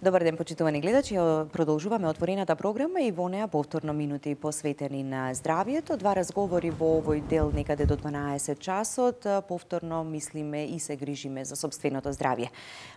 Добар ден, почитувани гледачи. Продолжуваме отворената програма и во неа повторно минути посветени на здравието. Два разговори во овој дел некаде до 12 часот. Повторно мислиме и се грижиме за сопственото здравје.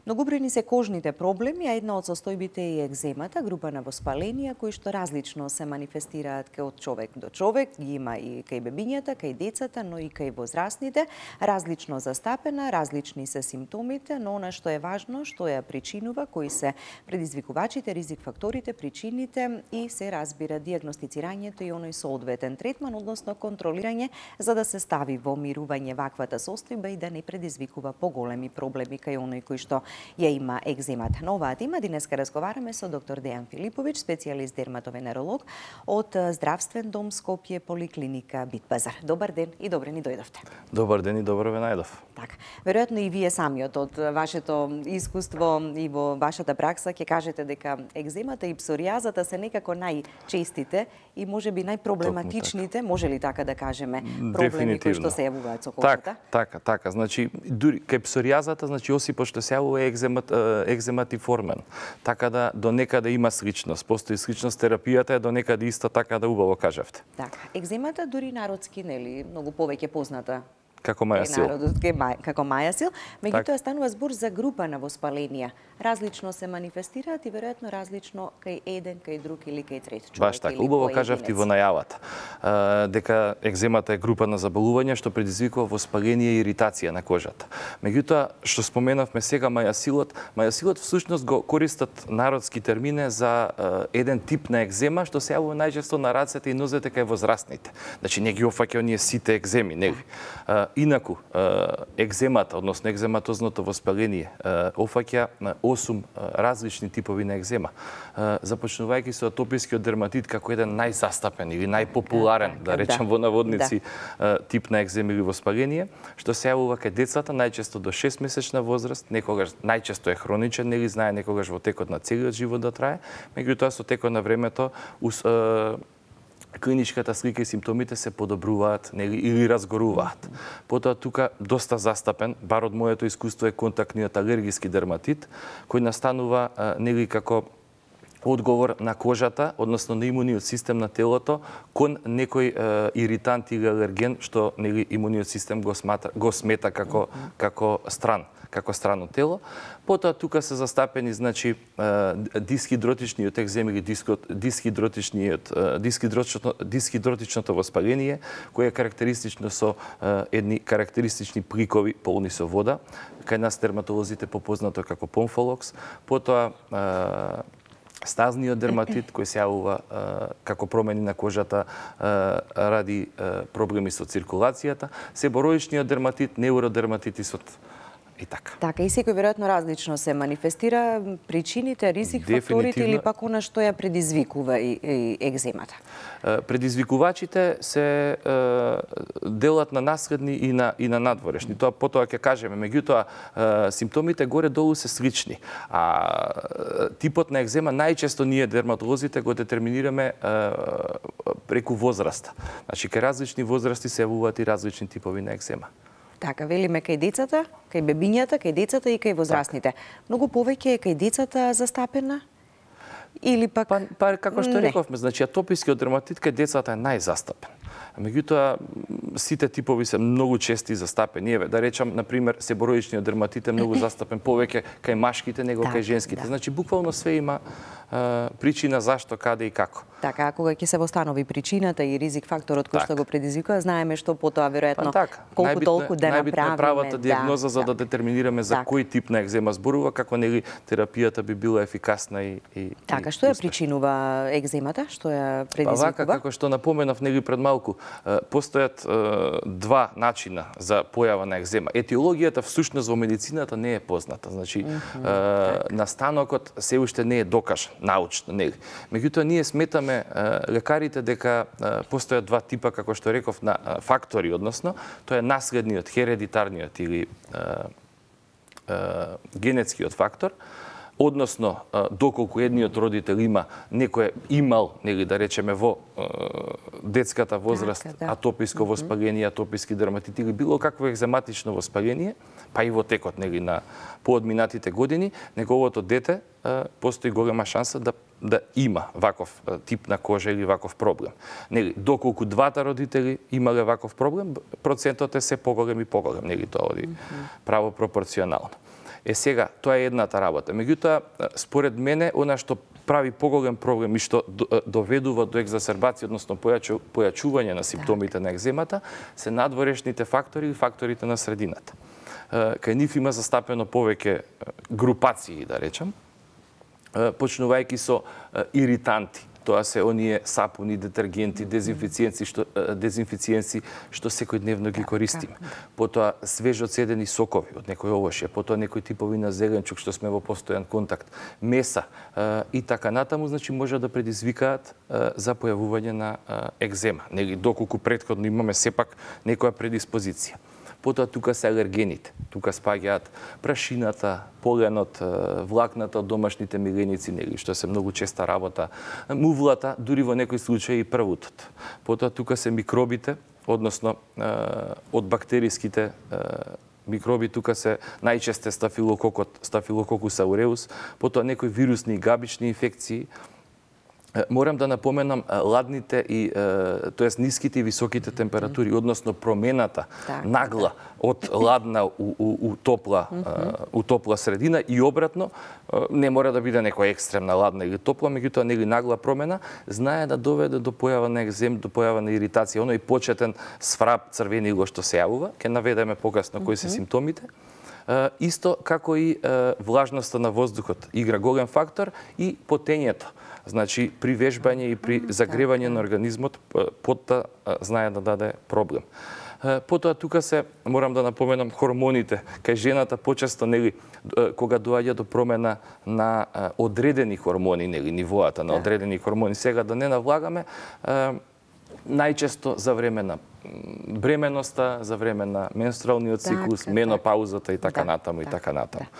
Многобројни се кожните проблеми, а една од состојбите е екземата, група на воспаленија кои што различно се манифестираат кај од човек до човек. Ги има и кај бебињата, кај децата, но и кај возрастните. Различно застапена, различни се симптомите, но она што е важно, што ја причинува, кои се предизвикувачите, ризик факторите, причините и се разбира дијагностицирањето и оној соодветен третман, односно контролирање, за да се стави во мирување ваквата состојба и да не предизвикува поголеми проблеми кај оној кој што ја има екземата. На оваа тема денеска разговараме со доктор Дејан Филиповиќ, специјалист дерматовенеролог од Здравствен дом Скопје, поликлиника Битпазар. Добар ден и добре ни дојдовте. Добар ден и добро ве најдов. Така, веројатно и вие самиот од вашето искуство и во вашата пракса ќе кажете дека екземата и псоријазата се некако најчестите и можеби најпроблематичните, може ли така да кажеме, проблеми кои што се јавуваат со кожата? Така. Значи, дури кај псоријазата, значи осипот што се јавува е екзематиформен. Така да до некаде има сличност. Постои сличност, терапијата е до некаде исто, така да убаво кажавте. Така, екземата дури народски, нели, многу повеќе позната како мајасил. Како мајасил, меѓутоа станува збор за група на воспаленија. Различно се манифестираат и веројатно различно кај еден, кај друг или кај трет човек. Баш така, убаво кажавте во најавата. Дека екземата е група на заболувања што предизвикува воспаление и иритација на кожата. Меѓутоа, што споменавме сега мајасилот всушност го користат народски термине за еден тип на екзема што се јавува најчесто на рацете и нозете кај возрастните. Значи не ги опфаќа оние сите екземи, нели? Инаку, екземата, односно екзематозното воспаление, опфаќа 8 различни типови на екзема. Започнувајќи со атопискиот дерматит како еден најзастапен или најпопуларен, да речем во наводници, тип на екзема или воспаление, што се јавува кај децата најчесто до 6-месечна возраст, некогаш најчесто е хроничен, нели знае некогаш во текот на целиот живот да трае, меѓутоа со текот на времето клиничката слика и симптомите се подобруваат или разгоруваат. Потоа тука доста застапен, бар од моето искуство е контактниот алергиски дерматит, кој настанува нели како одговор на кожата, односно на имуниот систем на телото кон некој иритант или алерген што нели имуниот систем го смета како странно тело. Потоа тука се застапени значи дисхидротичниот екзем или дисхидротичното воспаление, кое е карактеристично со едни карактеристични пликови полни со вода, кај нас дерматолозите попознато како помфолокс. Потоа стазниот дерматит кој се јавува како промени на кожата ради проблеми со циркулацијата, себороичниот дерматит, неуродерматитисот и така. Така, и секој веројатно различно се манифестира, причините, ризик факторите или пак она што ја предизвикува и екземата? Предизвикувачите се делат на наследни и на надворешни. Тоа потоа ќе кажеме, меѓутоа симптомите горе-долу се слични. А типот на екзема најчесто ние дерматолозите го детерминираме преку возраста. Значи кај различни возрасти се јавуваат и различни типови на екзема. Така, велиме кај децата, кај бебињата, кај децата и кај возрастните. Многу повеќе е кај децата застапена? Или пак... Па како што рековме, значи атопискиот дерматит кај децата е најзастапен. Меѓутоа, сите типови се многу чести застапени. Еве, да речам, например, себороичниот дерматит е многу застапен повеќе кај машките него кај женските. Значи, буквално све има причина зашто, каде и како. Така, кога ќе се восстанови причината и ризик факторот кој што го предизвикува, знаеме што потоа веројатно колку толку да направиме. Најбитна е правата дијагноза за да детерминираме за кој тип на екзема зборува, како нели терапијата би била ефикасна и така, што ја причинува екземата? Што ја предизвикува? Па вака, како што напоменав нели пред малку, постојат два начина за појава на екзема. Етиологијата всушност во медицината не е позната. Значи, настанокот се уште не е докажан научно, нели. Меѓутоа ние сметаме лекарите дека постојат два типа, како што реков, на фактори, односно тоа е наследниот, хередитарниот или генетскиот фактор, односно доколку едниот родител имал, нели да речеме во детската возраст атописко воспаление, атописки дерматит или било какво екзематично воспаление, па и во текот нели на поодминатите години, неговото дете постои голема шанса да има ваков тип на кожа или ваков проблем. Нели, доколку двата родители имале ваков проблем, процентот е се поголем и поголем, нели тоа оди право пропорционално. Сега, тоа е едната работа. Меѓутоа, според мене, она што прави поголем проблем и што доведува до екзасербација, односно појачување на симптомите на екземата, се надворешните фактори и факторите на средината. Кај нив има застапено повеќе групации, да речам, почнувајќи со иританти. Тоа се оние сапуни, детергенти, дезинфициенци што секојдневно ги користиме. Потоа свежо цедени сокови од некој овошје, потоа некои типови на зеленчук што сме во постојан контакт, меса и така натаму, значи може да предизвикаат за појавување на екзема. Нели доколку претходно имаме сепак некоја предиспозиција. Потоа тука се алергените. Тука спаѓаат прашината, поленот, влакната од домашните миленици, нели, што се многу честа работа, мувлата, дури во некои случаи и првутот. Потоа тука се микробите, односно од бактериските микроби, тука се најчесто Staphylococcus aureus, потоа некои вирусни и габични инфекции. Морам да напоменам ладните и тоест ниските и високите температури, односно промената нагла од ладна у топла средина и обратно, не мора да биде некоја екстремна ладна или топла, меѓутоа нели нагла промена знае да доведе до појава на екзем, до појава на иритација, оној почетен сврап црвенило што се јавува, ќе наведеме покасно кои се симптомите. Исто како и влажноста на воздухот игра голем фактор и потењето. Значи, при вежбање и при загревање на организмот, потта знае да даде проблем. Потоа тука се, морам да напоменам, хормоните. Кај жената почесто, нели, кога доаѓа до промена на одредени хормони, нели, нивоата на одредени хормони, сега да не навлагаме, најчесто за време на бременоста, за време на менструалниот циклус, менопаузата и така натаму, и така натаму.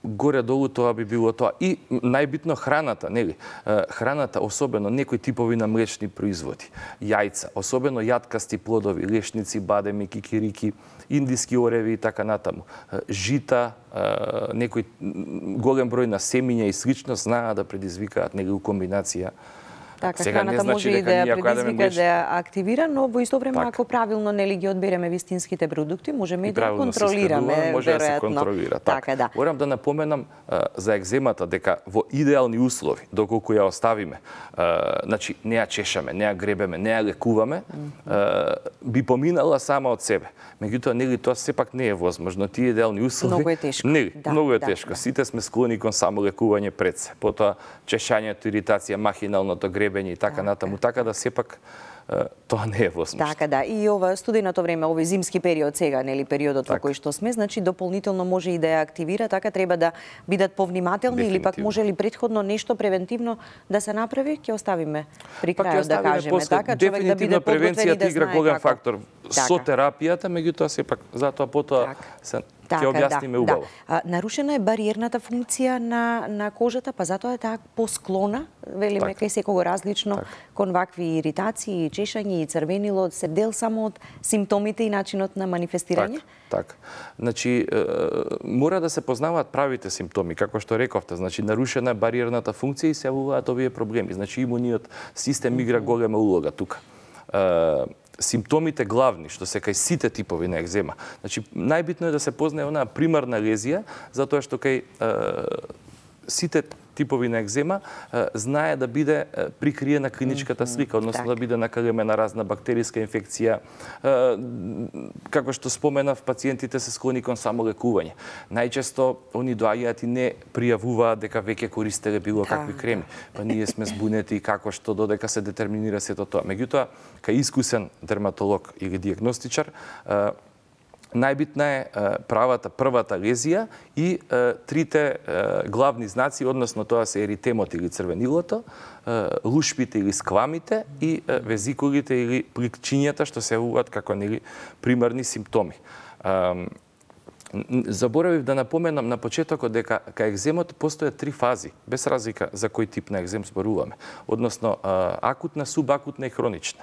Горе-долу тоа би било тоа. И најбитно храната, нели? Храната, особено некои типови на млечни производи, јајца, особено јаткасти плодови, лешници, бадеми, кикирики, индиски ореви и така натаму. Жита, некој голем број на семиња и слично знаат да предизвикаат нели комбинација. Така, храната може и да ја предизвика, да ја активира, но во исто време, ако правилно нели ги одбереме вистинските продукти, можеме и да ја контролираме, може да се контролира. Така, да. Морам да напоменам за екземата дека во идеални услови, доколку ја оставиме, значи не ја чешаме, не ја гребеме, не ја лекуваме, би поминала сама од себе. Меѓутоа, нели тоа сепак не е возможно. Тие идеални услови многу е тешко. Нели, многу е тешко. Сите сме склони кон само лекување пред се. Потоа чешањето, иритација, махиналното гребење и така натаму, така да сепак тоа не е возможно. Така, да. И ова студеното време, овој зимски период сега, нели, периодот во кој што сме, значи дополнително може и да ја активира, така треба да бидат повнимателни или пак може ли претходно нешто превентивно да се направи, ќе оставиме при крајот да кажеме, така, човек да биде подготвен и да игра голем фактор со терапијата, меѓутоа сепак затоа потоа ќе објасниме убаво. Нарушена е бариерната функција на кожата, па затоа е таа посклона, велиме, кај секого различно, кон вакви иритации, чешање и црвенило, се дел само од симптомите и начинот на манифестирање? Така. Значи, мора да се познаваат правите симптоми, како што рековте. Значи, нарушена е бариерната функција и се јавуваат овие проблеми. Значи, имуниот систем игра голема улога тука. Симптомите главни, што се кај сите типови на екзема. Значи, најбитно е да се познае онаа примарна лезија, затоа што кај сите типови на екзема знае да биде прикриена клиничката слика, односно да биде накалемена разна бактериска инфекција. Како што споменав, пациентите се склони кон само лекување. Најчесто они доаѓаат и не пријавуваат дека веќе користеле било какви креми. Па ние сме збунети како што додека се детерминира сето тоа. Меѓутоа, кај искусен дерматолог или диагностичар, најбитна е првата лезија и трите главни знаци, односно тоа се еритемот или црвенилото, лушпите или сквамите и везикулите или пликчињата што се јавуваат како нели примарни симптоми. Заборавив да напоменам на почетокот дека кај екземот постојат 3 фази, без разлика за кој тип на екзем зборуваме, односно акутна, субакутна и хронична.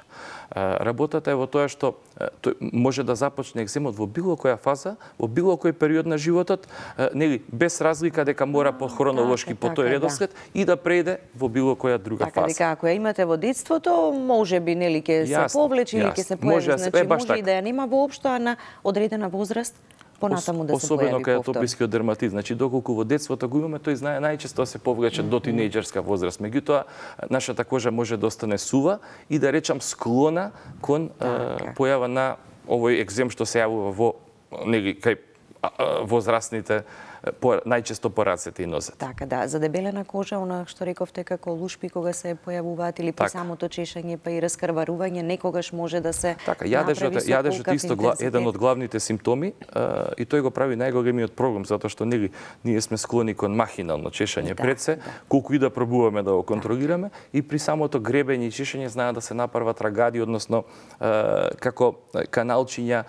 Работата е во тоа што тој може да започне екземот во било која фаза, во било кој период на животот, нели, без разлика дека мора по хронолошки по тој редослед и да прејде во било која друга фаза. Така дека ако ја имате во детството, можеби нели ќе се повлече или ќе се појави, значи може и да ја нема воопшто, а на одредена возраст понатаму да се појави особено кај повтор. атопискиот дерматит, значи доколку во детството го имаме, тој знае најчесто се повлече до тинејџерска возраст. Меѓутоа, нашата кожа може да остане сува и да речам склона кон појава на овој екзем што се јавува во нели кај возрастните најчесто по рацете и нозете. Така да, за дебелена кожа, она што рековте како лушпи кога се појавуваат или при самото чешање па и раскрварување, некогаш може да се така, јадежот е исто еден од главните симптоми и тој го прави најголемиот проблем затоа што нели ние сме склони кон махинално чешање пред се, колку и да пробуваме да го контролираме и при самото гребење и чешање знаат да се направат рагади, односно како каналчиња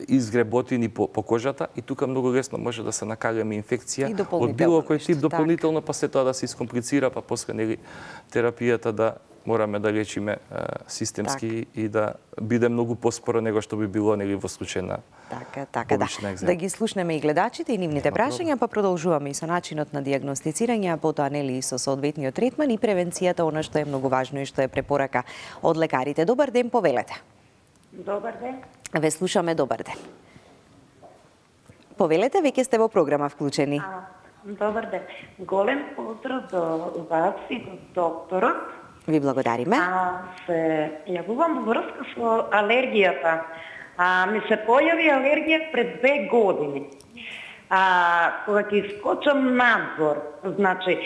изгреботини по кожата и тука многу лесно може да се накаѓаме инфекција од било кој тип дополнително, па се тоа да се искомплицира, па после нели терапијата да мораме да лечиме системски и да биде многу поспоро него што би било нели во случај на така да. Да ги слушнеме и гледачите и нивните прашања, па продолжуваме и со начинот на дијагностицирање, а потоа нели и со соодветниот третман и превенцијата, она што е многу важно и што е препорака од лекарите. Добар ден, повелете. Добар ден. Ве слушаме, добар ден. Повелете, веќе сте во програма вклучени. Добар ден. Голем поздрав до вас и до докторот. Ви благодариме. Се јавувам во врска со алергијата. Ми се појави алергија пред 2 години. Кога ќе искочам надвор, значи,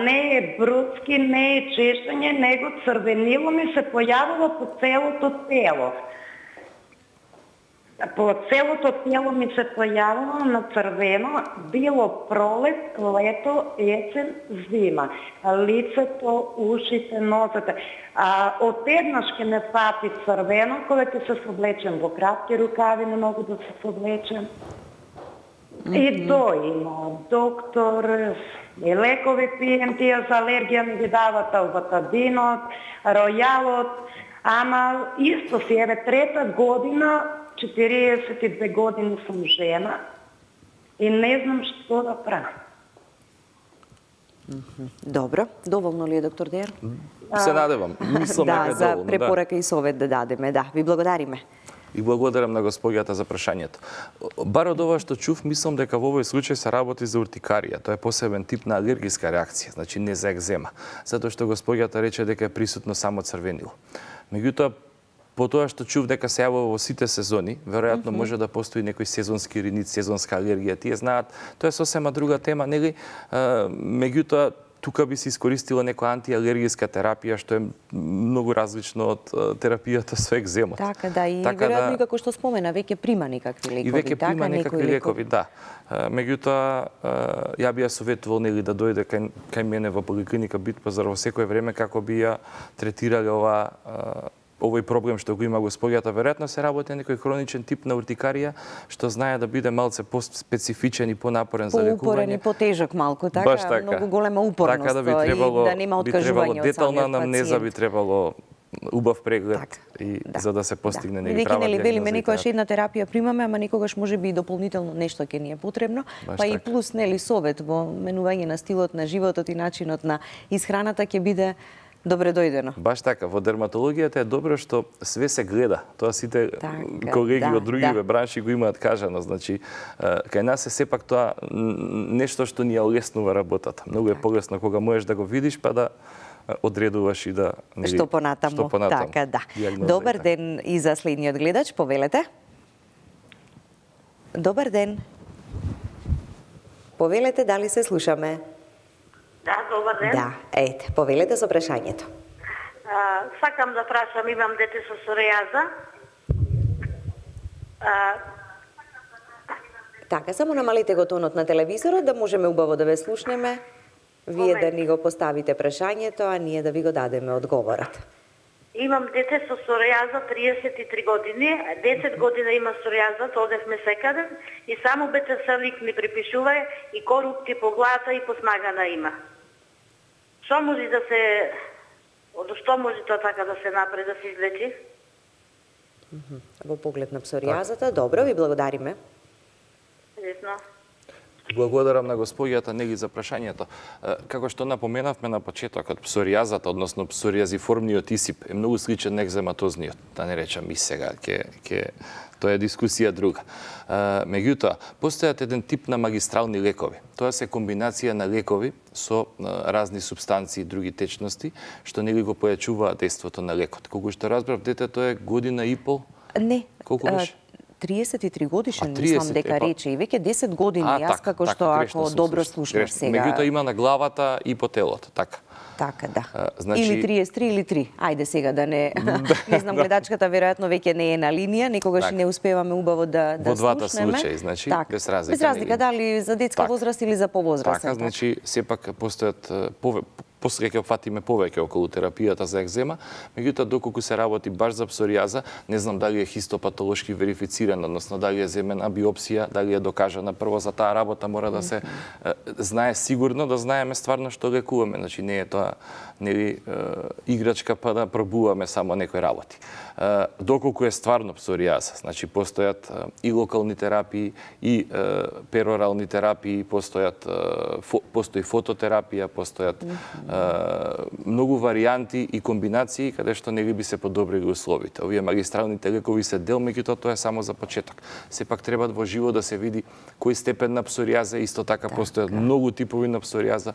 не е брудски, не е чешање, него црвенило ми се појавува по целото тело. По целото тело ми се појавува на црвено, било пролет, лето, есен, зима. Лицето, ушите, нозете. Одеднаш ќе ме фати црвено, кога ќе се соблечем во кратки рукави, не могу да се соблечем. И има доктор, и лекови пием, тие за алергија ми ги дават албатадинот, ројалот, ама исто си, еве, 3-та година, 42 години сум жена и не знам што да правам. Добро, доволно ли е, доктор Дејан? Се надевам. Мислам дека за препорака и совет да дадеме, ви благодариме. И благодарам на господјата за прашањето. Бар од ова што чув, мислам дека во овој случај се работи за уртикарија. Тоа е посебен тип на алергиска реакција, значи не за екзема. Затоа што господјата рече дека е присутно само црвенило. Меѓутоа, по тоа што чув дека се јавува во сите сезони, веројатно може да постои некој сезонски ринит, сезонска алергија. Тие знаат, тоа е сосема друга тема, нели? Меѓутоа, тука би се искористила некоја антиалергиска терапија, што е многу различно од терапијата со екземот. Така да, и веројатно и како што спомена, веќе прима некакви лекови. И веќе прима некакви лекови, да. Меѓутоа, ја би ја советувал нели да дојде кај мене во поликлиника Битпазар во секое време како би ја третирале овој проблем што го има господјата. Веројатно се работи некој хроничен тип на уртикарија, што знае да биде малце по-специфичен и понапорен за лекување. Поупорен и потежок малку, така, многу голема упорност. Така да би требало детална анамнеза, би требало убав преглед и за да се постигне нели права дијагноза. Велиме некогаш една терапија примаме, ама некогаш можеби и дополнително нешто ќе ни е потребно, па и плюс нели совет во менување на стилот на животот и начинот на исхраната ќе биде добре дојдено. Баш така, во дерматологијата е добро што све се гледа. Тоа сите колеги од другиве бранши го имаат кажано. Значи, кај нас е сепак тоа нешто што ни ја олеснува работата. Многу е полесно кога можеш да го видиш, па да одредуваш и да... Што понатаму. Така, да. Добар ден и за следниот гледач, повелете. Добар ден. Повелете, дали се слушаме? Да, добар ден. Да, ете, повелете со прашањето. Сакам да прашам, имам дете со псоријаза. Така, само намалите го тонот на телевизорот, да можеме убаво да ве слушнеме. Вие да ни го поставите прашањето, а ние да ви го дадеме одговорот. Имам дете со псоријаза 33 години, 10 година има псоријаза, одевме секаде и само бетесалик ми припишува и корупти по главата и по смагана има. Што може да се што може тоа така да се направи да се излечи? Во поглед на псоријазата, добро, ви благодариме. Лесно. Благодарам на господјата Нели за прашањето. Како што напоменавме на почетокот, псоријазата, односно псоријазиформниот исип е многу сличен на екзематозниот, да не речам и сега, тоа е дискусија друга. Меѓутоа, постојат еден тип на магистрални лекови. Тоа се комбинација на лекови со разни субстанции и други течности, што нели го појачуваат действото на лекот. Колку што разбрав, детето е година и пол? Не. Колку беше? 33 годишен, мислам дека рече, и веќе 10 години, јас како што ако добро слушнав сега. Меѓутоа има на главата и по телото, така. Така, да. Или 33 или 3. Ајде сега да не... Не знам, гледачката веројатно веќе не е на линија, некогаш не успеваме убаво да слушнеме. Во двата случаи, значи, без разлика. Без разлика, дали за детска возраст или за повозрастен. Така, значи, сепак постојат после ќе опфатиме повеќе околу терапијата за екзема, меѓутоа доколку се работи баш за псоријаза, не знам дали е хистопатолошки верифициран, односно дали е земена биопсија, дали е докажана. Прво за таа работа мора да се знае сигурно, да знаеме стварно што лекуваме. Значи не е тоа нели играчка па да пробуваме само некои работи. Доколку е стварно псоријаза, значи постојат и локални терапии, и перорални терапии, постои фототерапија, постојат многу варијанти и комбинации каде што нели би се подобрили условите. Овие магистралните лекови се дел, меѓутоа тоа е само за почеток. Сепак треба во живо да се види кој степен на псоријаза, исто така постојат многу типови на псоријаза,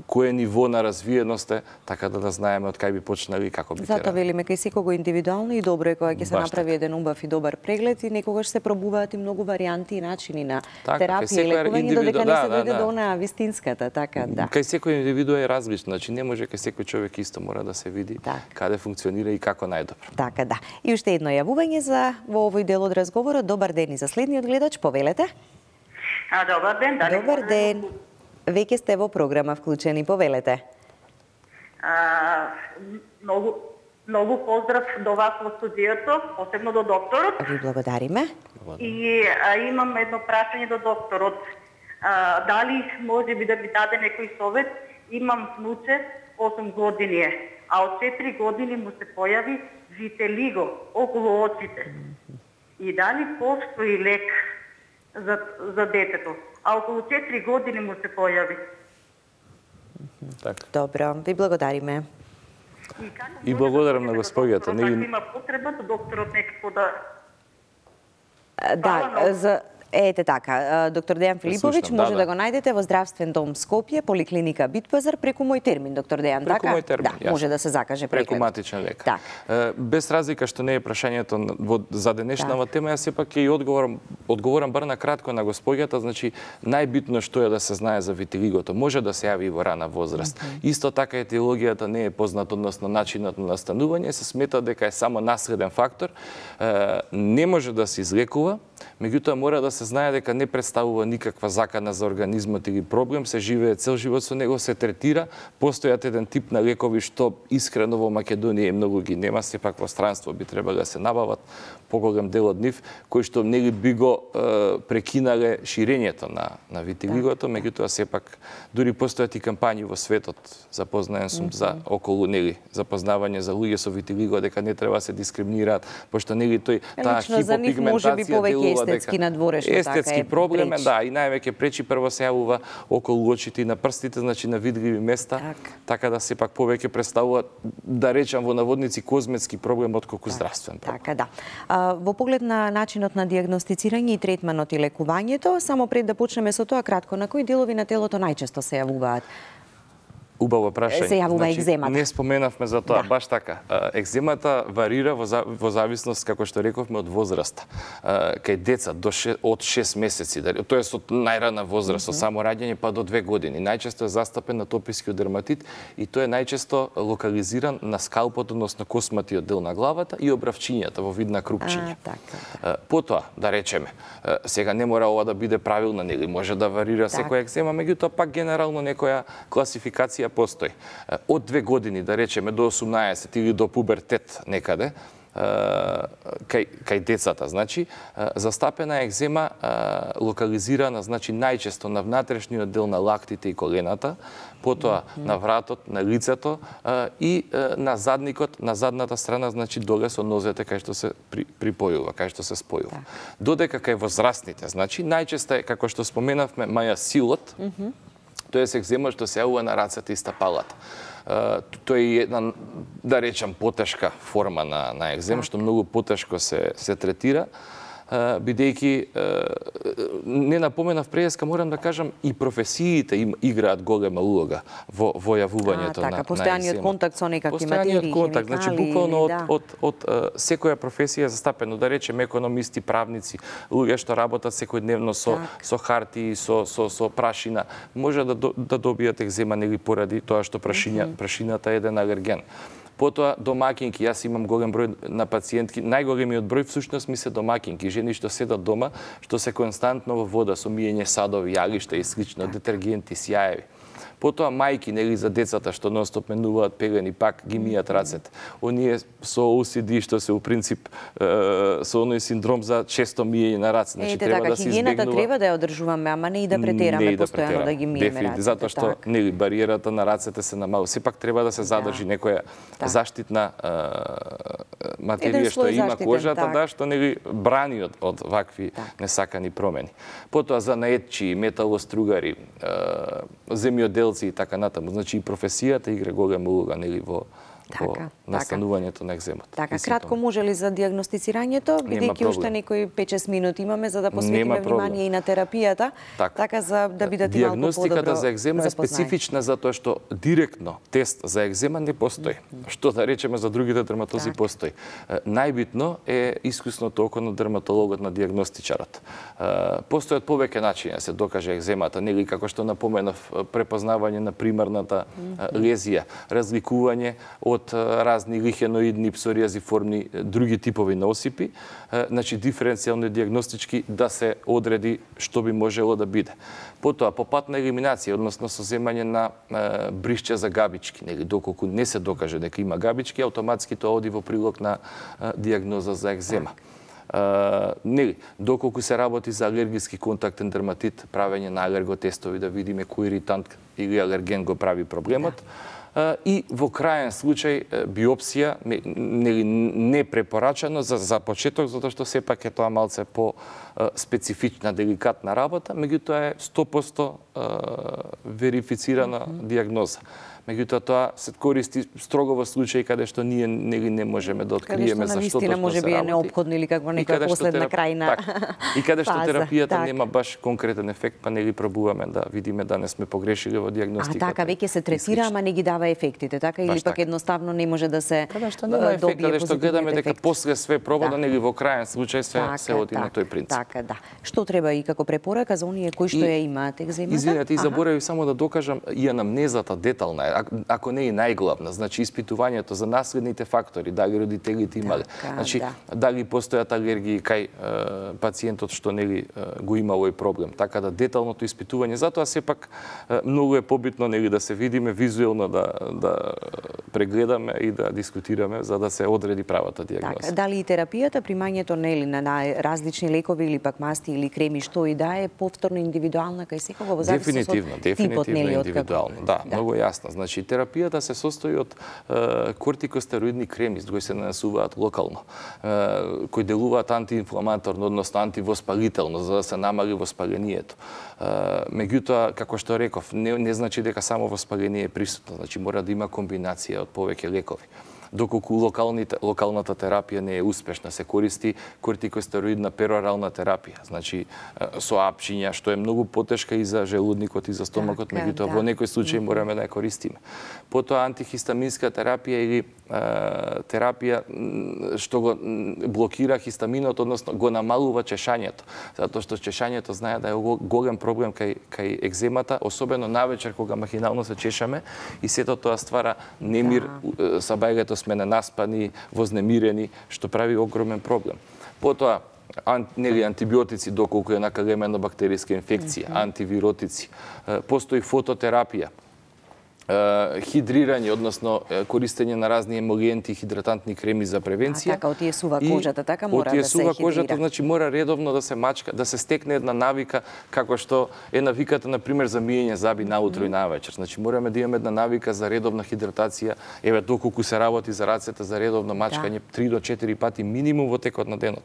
кое ниво на развиеност е, така да знаеме од кај би почнали и како би Затоа велиме кај секого индивидуално и добро е кога ќе се направи еден убав и добар преглед и некогаш се пробуваат и многу варијанти и начини на терапија и лекување додека не се дојде до онаа вистинската, така да. Кај секој индивиду е различно, значи не може кај секој човек исто, мора да се види каде функционира и како најдобро. Така да. И уште едно јавување за во овој дел од разговорот. Добар ден и за следниот гледач, повелете. Добар ден, дали. Добар ден. Веќе сте во програма вклучени, повелете. Многу поздрав до вас во студиото, посебно до докторот. Ви благодариме. И имам едно прашање до докторот. Дали може би да ми даде некој совет? Имам внуче, 8 години е, а од 4 години му се појави вителиго околу очите. И дали постои лек за детето? А околу 4 години му се појави. Добро, ви благодариме. И благодарам на господјата. Има потреба до докторот некако да... Да, ете така, доктор Дејан Филиповиќ може да го најдете во Здравствен дом Скопје, поликлиника Битпазар, преку мој термин, доктор Дејан, така? Преку мој термин, да, може да се закаже преглед. Преку матичен лекар. Без разлика што не е прашањето за денешнава тема, јас сепак ќе и одговорам бар на кратко на господјата, значи најбитно што е да се знае за витилигото. Може да се јави и во рана возраст. Исто така етиологијата не е позната, односно начинот на настанување, се смета дека е само наследен фактор, не може да се излекува, меѓутоа мора да се знае дека не представува никаква закана за организмот или проблем, се живее цел живот со него, се третира, постојат еден тип на лекови што искрено во Македонија многу ги нема, сепак во странство би требало да се набават поголем дел од нив, кои што нели би го прекинале ширењето на витилигото, меѓутоа сепак дури постојат и кампањи во светот, запознаен сум за околу нели запознавање за луѓе со витилиго дека не треба се дискриминираат, пошто нели тој таа хипопигментација делува естетски надворешно, естетски проблем е, да, и највеќе пречи прво се јавува околу очите и на прстите, значи на видливи места, така да сепак повеќе представува, да речам во наводници, козметски проблем отколку здравствен проблем. Така да. Во поглед на начинот на дијагностицирање и третманот и лекувањето, само пред да почнеме со тоа кратко, на кои делови на телото најчесто се јавуваат? Убаво прашање. Се јавува екземата. Не споменавме за тоа, баш така. Екземата варира во зависност, како што рековме, од возраста. Кај деца од 6 месеци, тоа е од најрана возраст, од само раѓање па до 2 години. Најчесто е застапен атописки дерматит и тој е најчесто локализиран на скалпот, односно косматиот дел на главата и обравчињата во вид на крупчиња. Потоа, да речеме, сега не мора ова да биде правилна, нели може да варира секоја екзема, меѓутоа пак генерално некоја класификација терапија постои. Од 2 години, да речеме, до 18 или до пубертет некаде, кај децата, значи, застапена екзема локализирана, значи, најчесто на внатрешниот дел на лактите и колената, потоа на вратот, на лицето и на задникот, на задната страна, значи, доле со нозете кај што се припојува, кај што се спојува. Додека кај возрастните, значи, најчесто е, како што споменавме, мајасилот, тоа е екзема што се јавува на рацете и стапалата. Тоа е една, да речам, потешка форма на екзем, што многу потешко се третира, бидејќи не напоменав преска, морам да кажам, и професиите играат голема улога во јавувањето на екзема. Постојаниот контакт со некакви материи, постојаниот контакт, значи буквално од секоја професија застапено, да речем економисти, правници, луѓе што работат секојдневно со хартии, со прашина, може да добијат екзема нели поради тоа што прашината е еден алерген. Потоа домакинки, јас имам голем број на пациентки, најголемиот број всушност ми се домакинки, жени што седат дома, што се константно во вода со миење садови, јалишта и слично, детергенти, сјаеви. Потоа мајки, нели, за децата што нонстоп менуваат пелени, пак ги мијат рацете. Оние со OCD што се у принцип со оној синдром за често миење на раце, значи треба да се избегнува. Хигиената треба да ја одржуваме, ама не и да претераме постојано да ги миеме рацете. Затоа што нели бариерата на рацете се намалува. Сепак треба да се задржи некоја заштитна материја што има кожата, што нели брани од вакви несакани промени. Потоа за наетчи, металостругари, земјоделци и така натаму. Значи и професијата игра голема улога нели во настанувањето на екземот. Така, кратко може ли за диагностицирањето, бидејќи уште некои 5-6 минути имаме за да посветиме внимание и на терапијата, така за да бидете малку подобро. Диагностиката за екзема е специфична затоа што директно тест за екзема не постои. Што да речеме за другите дерматози постои. Најбитно е искусното око на дерматологот, на диагностичарот. Постојат повеќе начини да се докаже екземата, нели како што напоменав, препознавање на примарната лезија, разликување од разни лихеноидни, псориазиформни, други типови на осипи, значи диференцијално диагностички да се одреди што би можело да биде. Потоа, по пат на елиминација, односно со земање на бришче за габички, нели, доколку не се докаже дека има габички, автоматски тоа оди во прилог на диагноза за екзема. Нели, доколку се работи за алергиски контактен дерматит, правење на алерготестови да видиме кој иритант или алерген го прави проблемот. И во крајен случај биопсија не препорачано за почеток, затоа што сепак е тоа малце по специфична, деликатна работа, меѓутоа е 100% верифицирана диагноза. Меѓутоа тоа се користи строго во случаи каде што ние не можеме да откриеме за што точно може се би е работи. неопходно или каква некоја последна крајна и каде што терапијата нема баш конкретен ефект, па нели пробуваме да видиме да не сме погрешили во диагностиката. Така веќе се третира, ама не ги дава ефектите, така или пак едноставно не може да се каде што нема ефект, каде што гледаме дека после све пробано нели во крајен случај се оди на тој принцип. Така, да. Што треба и како препорака за оние кои што ја имаат екземата? Извинете, и заборавив само да докажам и анамнезата детална, ако не и најглавна, значи испитувањето за наследните фактори, дали родителите имале, значи дали постојат алергии кај пациентот што нели го има овој проблем. Така да деталното испитување, затоа сепак многу е побитно нели да се видиме визуелно да прегледаме и да дискутираме за да се одреди правата диагноза. Така, дали и терапијата, примањето нели на различни лекови или пак масти или креми, што и да е повторно индивидуална кај секого во зависност од типот нели индивидуално. Да, многу јасно. Значи терапијата се состои од кортикостероидни креми кои се нанесуваат локално, кои делуваат антиинфламаторно, односно антивоспалително, за да се намали воспалението. Меѓутоа, како што реков, не значи дека само воспаление е присутно, значи мора да има комбинација од повеќе лекови. Доколку локалната терапија не е успешна, се користи кортикостероидна перорална терапија, значи со апчиња, што е многу потешка и за желудникот и за стомакот, меѓутоа во некој случај мораме да ја користиме. Потоа антихистаминска терапија или терапија што го блокира хистаминот, односно го намалува чешањето, затоа што чешањето знае да е голем проблем кај екземата, особено навечер кога махинално се чешаме и сето тоа ствара немир, сабајлето сме ненаспани, вознемирени, што прави огромен проблем. Потоа, антибиотици, доколку е накалемена бактериска инфекција, антивиротици. Постои фототерапија. хидрирање, односно користење на разни емолиенти, хидратантни креми за превенција. Така, отиесува кожата, така мора да се хидрира. Кожата, значи мора редовно да се мачка, да се стекне една навика, како што е навиката, например, за миење заби наутро и навечер. Значи мораме да имаме една навика за редовна хидратација, еве доколку се работи за рацете, за редовно мачкање 3 до 4 пати минимум во текот на денот.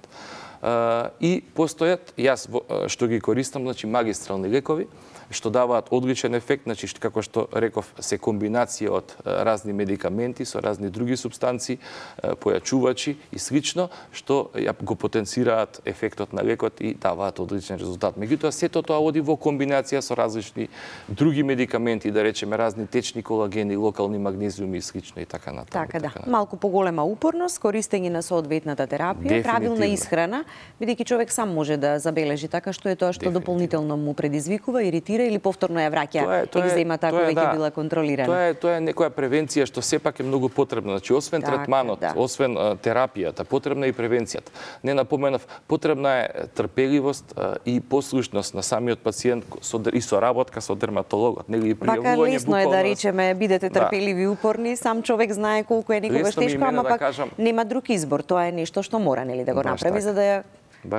И постојат, јас што ги користам, значи магистрални лекови, што даваат одличен ефект, значи како што реков, се комбинација од разни медикаменти со разни други супстанции, појачувачи и слично, што го потенцираат ефектот на лекот и даваат одличен резултат. Меѓутоа, сето тоа оди во комбинација со различни други медикаменти, да речеме разни течни колагени, локални магнезиуми и слично и така натаму. Така да, малку поголема упорност, користење на соодветната терапија, правилна исхрана, бидејќи човек сам може да забележи така што е тоа што дополнително му предизвикува, иритира или повторно ја враќа екземата ако веќе била контролирана. Тоа е некоја превенција што сепак е многу потребна. Значи освен третманот, освен терапијата, потребна е и превенцијата. Не напоменав, потребна е трпеливост и послушност на самиот пациент и соработка со дерматологот, нели и пријавување буквално. Вака лесно е да речеме бидете трпеливи и упорни, сам човек знае колку е некогаш тешко, ама пак нема друг избор. Тоа е нешто што мора нели да го направи за да ја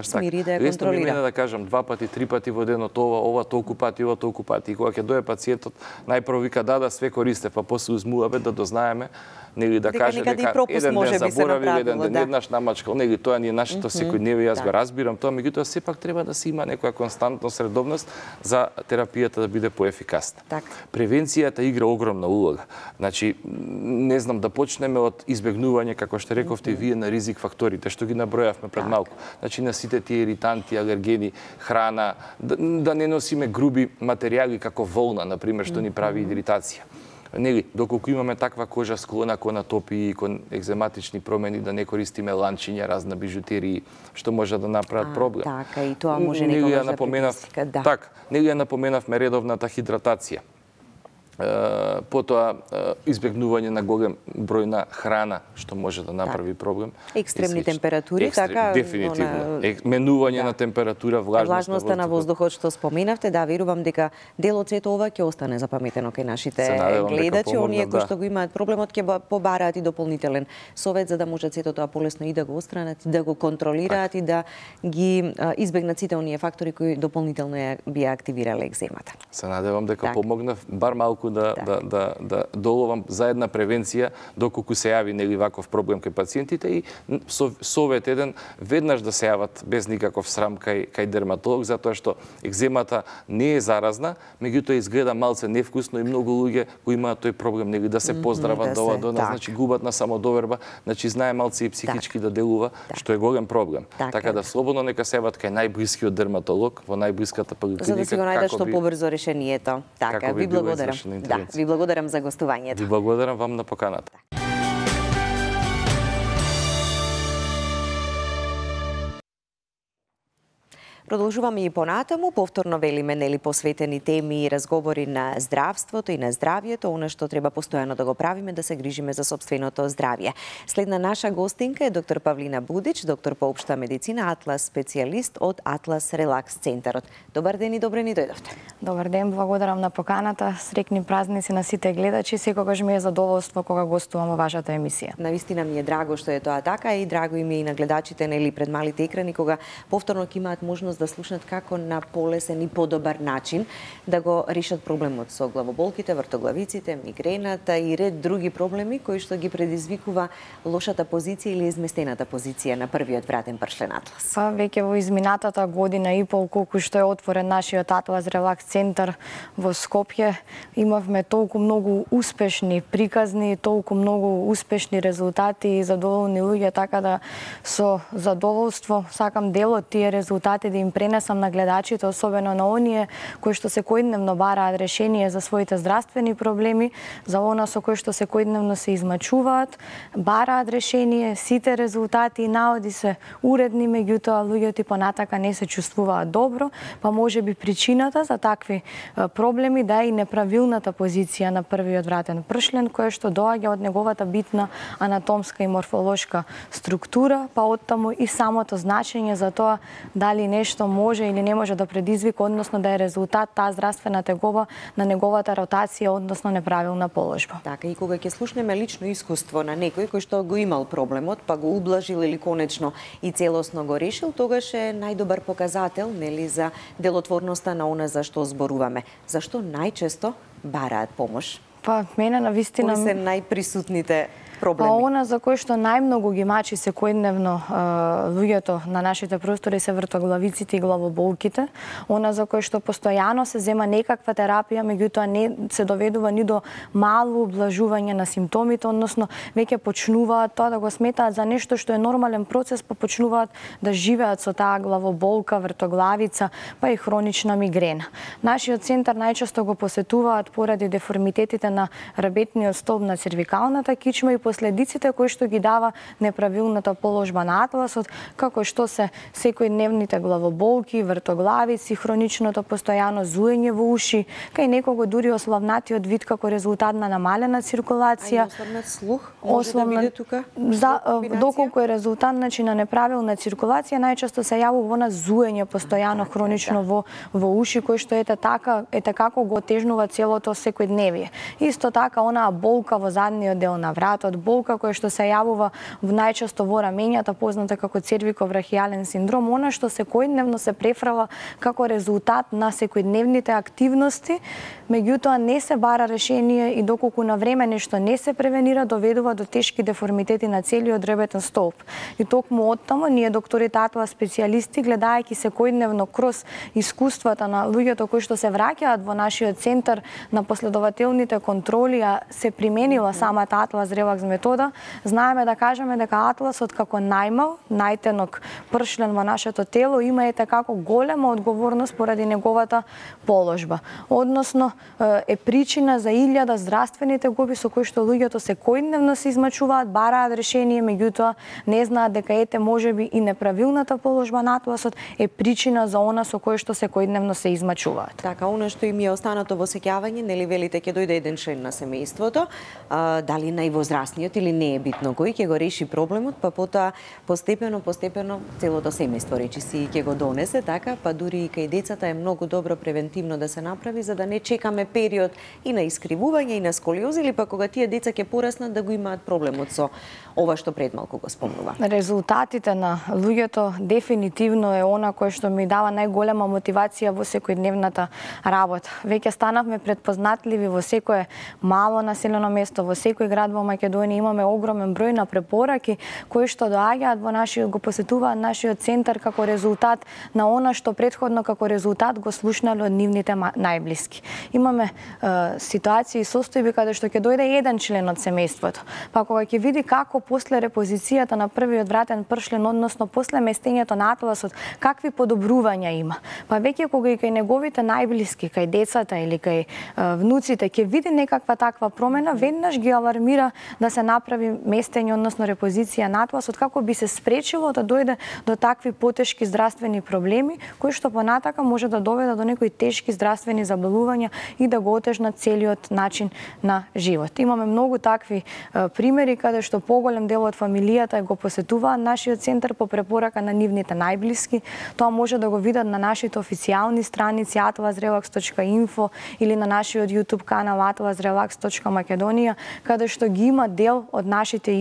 смири, да ја контролира. Лесно ми да кажам 2 пати, 3 пати во денот ова толку пати, ова толку пати. И кога ќе дое пациентот, најпрво вика да све користе, па после узмуваме да дознаеме, нели да каже дека еден ден заборави, еден ден еднаш намачкал, нели тоа ни е нашето секојдневие, јас го разбирам тоа, меѓутоа сепак треба да се има некоја константност, редовност за терапијата да биде поефикасна. Превенцијата игра огромна улога. Значи, не знам, да почнеме од избегнување, како што рековте вие, на ризик факторите, што ги набројавме пред малку. Значи, на сите тие иританти, алергени, храна, да не носиме груби материјали како волна, например, што ни прави иритација. Нели, доколку имаме таква кожа склона кон атопии, кон екзематични промени, да не користиме ланчиња, разна бижутерии, што може да направат проблем. Така, и тоа може некогаш да предизвика, да. Така, нели ја напоменавме редовната хидратација. Потоа избегнување на голем број на храна, што може да направи проблем. Екстремни температури, така? Дефинитивно. Менување на температура, влажноста на воздухот што споминавте, да, верувам дека дел од сето ова ќе остане запаметено кај нашите гледачи, оние кои што го имаат проблемот ќе побараат и дополнителен совет за да можат сето тоа полесно и да го отстранат, и да го контролираат и да ги избегнат сите оние фактори кои дополнително ја би активирале екземата. Се надевам дека помогнав бар малку да доловам за една превенција доколку се јави нели ваков проблем кај пациентите и совет еден веднаш да се јават без никаков срам кај дерматолог, затоа што екземата не е заразна, меѓутоа изгледа малце невкусно и многу луѓе кои имаат тој проблем нели да се поздрават до нас, значи губат на самодоверба, значи знае малце и психички да делува, што е голем проблем. Така да слободно нека се јават кај најблискиот дерматолог во најблиската поликлиника, за да си го најдат што побрзо решението. Така, ви благодарам. Да, ви благодарам за гостувањето. Ви благодарам вам на поканата. Продолжуваме и понатаму, повторно велиме нели посветени теми и разговори на здравството и на здравието, она што треба постојано да го правиме, да се грижиме за сопственото здравје. Следна наша гостинка е доктор Павлина Будич, доктор по општа медицина, Атлас специјалист од Атлас Релакс центарот. Добар ден и добре ни дојдовте. Добар ден, благодарам на поканата. Среќни празници на сите гледачи. Секогаш ми е задоволство кога гостувам во вашата емисија. Навистина ми е драго што е тоа така и драго им е и на гледачите нели пред малите екрани кога повторно ќе имаат можност да слушнат како на полесен и подобар начин да го решат проблемот со главоболките, вртоглавиците, мигрената и ред други проблеми кои што ги предизвикува лошата позиција или изместената позиција на првиот вратен пршлен Атлас. Па веќе во изминатата година и пол колку што е отворен нашиот Атлас Релакс центар во Скопје, имавме толку многу успешни приказни, толку многу успешни резултати и задоволни луѓе, така да со задоволство сакам дел од тие резултати да им пренесам на гледачите, особено на оние кои што секојдневно бараат решение за своите здравствени проблеми, за она со кои што секојдневно се измачуваат, бараат решение, сите резултати и наоди се уредни, меѓутоа луѓето и понатака не се чувствуваат добро, па може би причината за такви проблеми да е и неправилната позиција на првиот вратен пршлен, која што доаѓа од неговата битна анатомска и морфолошка структура, па оттаму и самото значење за тоа дали нешто нешто може или не може да предизвика, односно да е резултат таа здравствена тегоба на неговата ротација, односно неправилна положба. Така, и кога ќе слушнеме лично искуство на некој кој што го имал проблемот, па го ублажил или конечно и целосно го решил, тогаш е најдобар показател, нели, за делотворноста на она за што зборуваме. Зашто најчесто бараат помош? Па мене навистина Кои се најприсутните проблеми? Па она за кој што најмногу ги мачи секојдневно луѓето на нашите простори се вртоглавиците и главоболките. Она за кој што постојано се зема некаква терапија, меѓутоа не се доведува ни до мало ублажување на симптомите, односно веќе почнуваат тоа да го сметаат за нешто што е нормален процес, па почнуваат да живеат со таа главоболка, вртоглавица, па и хронична мигрена. Нашиот центар најчесто го посетуваат поради деформитетите на рабетниот столб на цервикалната кичма и последиците кои што ги дава неправилната положба на атласот, како што се секојдневните главоболки, вртоглавици, хроничното постојано зуење во уши, кај некого дури ослабнатиот вид како резултат на намалена циркулација. А ослабнат слух може да биде тука? Доколку е резултат на неправилна циркулација, најчесто се јавува она зуење постојано хронично во уши, кој што ете како го отежнува целото секојдневие. Исто така онаа болка во задниот дел на вратот, болка која што се јавува најчесто во рамењата, позната како цервиковрахијален синдром, она што секојдневно се префрава како резултат на секојдневните активности, меѓутоа не се бара решение и доколку на време нешто не се превенира, доведува до тешки деформитети на целиот ребетен столб. И токму оттаму ние докторите атлас специјалисти, гледајќи секојдневно кроз искуствата на луѓето кои што се враќаат во нашиот центар на последователните контроли, а се применила самата атлас релакс метода, знаеме да кажеме дека атласот како најмал, најтенок пршлен во нашето тело има како голема одговорност поради неговата положба. Односно е причина за 1000 здравствени тегоби со кои што луѓето секојдневно се измачуваат, бараат решение, меѓутоа не знаат дека можеби и неправилната положба на атласот е причина за она со кое што секојдневно се измачуваат. Така, она што им е останато во сеќавање, нели велите ќе дојде еден член на семејството, дали највозрасниот или не е битно кој ќе го реши проблемот, па потоа постепено целото семејство речиси ќе го донесе, така, па дури и кај децата е многу добро превентивно да се направи за да не чекаме период и на искривување и на сколиоз, или па кога тие деца ќе пораснат да го имаат проблемот со ова што пред малку го спомнува. Резултатите на луѓето дефинитивно е она кое што ми дава најголема мотивација во секојдневната работа. Веќе станавме предпознатливи во секое мало населено место, во секој град во Македонија имаме огромен број на препораки кои што доаѓаат во го посетуваат нашиот центар како резултат на она што претходно како резултат го слушнале од нивните најблиски. Имаме ситуации и состојби каде што ќе дојде еден член од семејството, па кога ќе види како после репозицијата на првиот вратен пршлен, односно после местењето на атласот, какви подобрувања има. Па веќе кога и кај неговите најблиски, кај децата или кај внуците ќе види некаква таква промена, веднаш ги алармира да се направи местење, односно репозиција на атласот, како би се спречило да дојде до такви потешки здравствени проблеми, кои што понатака може да доведат до некои тешки здравствени заболувања и да го отежнат целиот начин на живот. Имаме многу такви примери каде што поголем дел од фамилијата го посетуваат нашиот центар по препорака на нивните најблиски. Тоа може да го видат на нашите официјални страници atlasrelax.info или на нашиот YouTube канал atlasrelax.makedonија, каде што ги има дел од нашите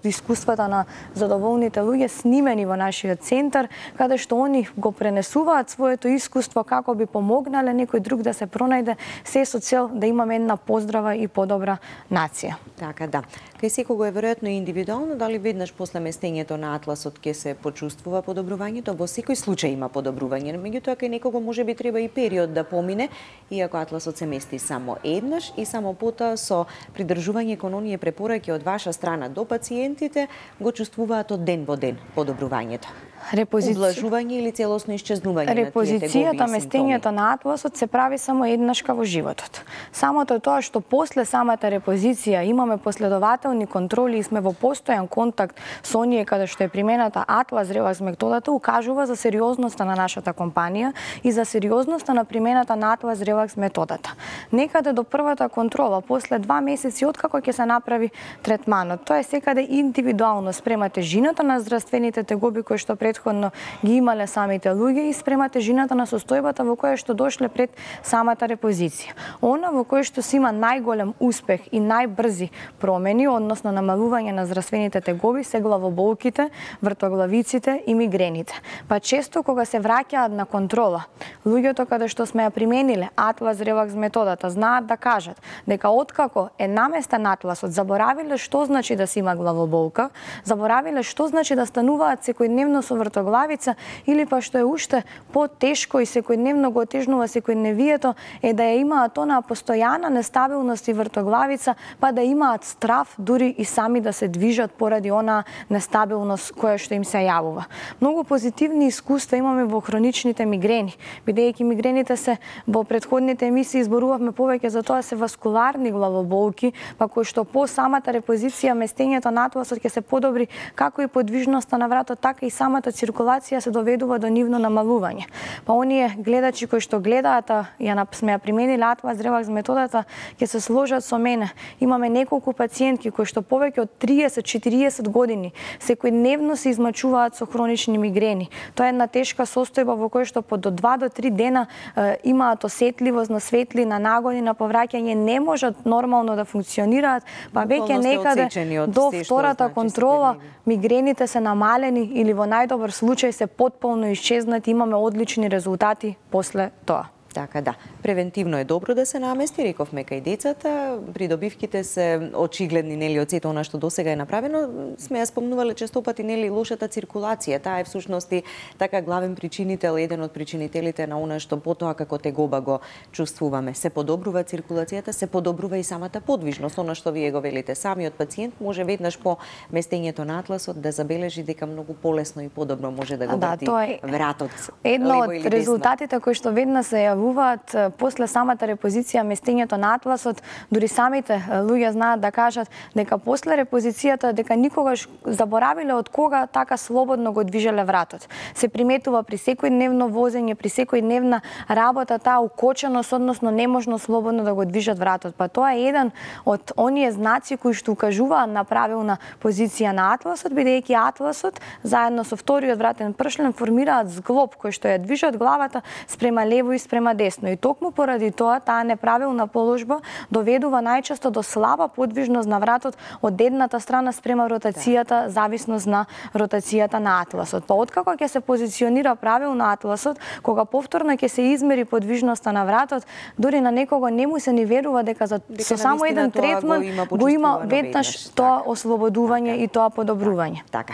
искуствата на задоволните луѓе снимени во нашиот центар, каде што они го пренесуваат своето искуство како би помогнале некој друг да се пронајде, се со цел да имаме една поздрава и подобра нација. Така, да. Кај секого е веројатно индивидуално, дали веднаш после местењето на атласот ќе се почувствува подобрувањето, во секој случај има подобрување, меѓутоа кај некого може би треба и период да помине, иако атласот се мести само еднаш и само потоа со придржување кон оние препораки од ваша страна до пациентите го чувствуваат од ден во ден подобрувањето. Ублажување или целосно исчезнување на тие тегоби и Репозицијата, местењето на атласот се прави само еднашка во животот. Самото тоа што после самата репозиција имаме последователни контроли и сме во постојан контакт со оние каде што е примената атлас релакс методата, укажува за сериозноста на нашата компанија и за сериозноста на примената на атлас релакс методата. Некаде до првата контрола, после 2 месеци откако ќе се направи третманот, тоа е секаде индивидуално спрема тежината на здравствените тегоби кои што претходно ги имале самите луѓе и спрема тежината на состојбата во која што дошле пред самата репозиција. Она во кој што се има најголем успех и најбрзи промени, односно намалување на здравствените тегоби, се главоболките, вртоглавиците и мигрените. Па често кога се враќаат на контрола, луѓето каде што сме ја примениле Атлас Релакс методата знаат да кажат дека откако е наместен атласот, заборавиле што значи да се има главоболка, заборавиле што значи да стануваат секојдневно со вртоглавица или па што е уште потешко и секојдневно го отежнува секојдневието е да ја имаат онаа постојана нестабилност и вртоглавица, па да имаат страв дури и сами да се движат поради онаа нестабилност која што им се јавува. Многу позитивни искуства имаме во хроничните мигрени, бидејќи мигрените се во претходните емисии изборувавме повеќе за тоа се васкуларни главоболки, па кои што по самата репозиција местењето на атласот ќе се подобри како и подвижноста на вратот, така и самата циркулација се доведува до нивно намалување. Па оние гледачи кои што гледаат, сме ја примениле Атлас Релакс методата, ќе се сложат со мене. Имаме неколку пациентки кои што повеќе од 30-40 години секојдневно се измачуваат со хронични мигрени. Тоа е една тешка состојба во која што по до 2 до 3 дена имаат осетливост на светли, на нагони, на повраќање, не можат нормално да функционираат, па веќе некаде до втората контрола мигрените се намалени или во најдобар случај се потполно исчезнати, имаме одлични резултати после тоа. Така да, превентивно е добро да се намести, рековме кај децата, придобивките се очигледни, нели, од сето она што досега е направено, сме ја спомнувале честопати, нели, лошата циркулација, таа е всушност и така главен причинител, еден од причинителите на она што потоа како тегоба го чувствуваме. Се подобрува циркулацијата, се подобрува и самата подвижност, она што вие го велите. Самиот пациент може веднаш по местењето на атласот да забележи дека многу полесно и подобро може да го врти вратот. Едно од резултатите кои што веднаш се јавуваат после самата репозиција местењето на атласот, дури самите луѓе знаат да кажат дека после репозицијата дека никогаш заборавиле од кога така слободно го движеле вратот. Се приметува при секојдневно возење, при секојдневна работа таа укоченост, односно неможно слободно да го движат вратот. Па тоа е еден од оние знаци кои што укажуваат на правилна позиција на атласот, бидејќи атласот заедно со вториот вратен пршлен формираат зглоб кој што ја движат главата спрема лево и спрема десно. И токму поради тоа, таа неправилна положба доведува најчесто до слаба подвижност на вратот од едната страна спрема ротацијата, зависност на ротацијата на атласот. Па откако ќе се позиционира правилно атласот, кога повторно ќе се измери подвижноста на вратот, дури на некого не му се ни верува дека со само еден третман го има веднаш тоа ослободување и тоа подобрување. Така.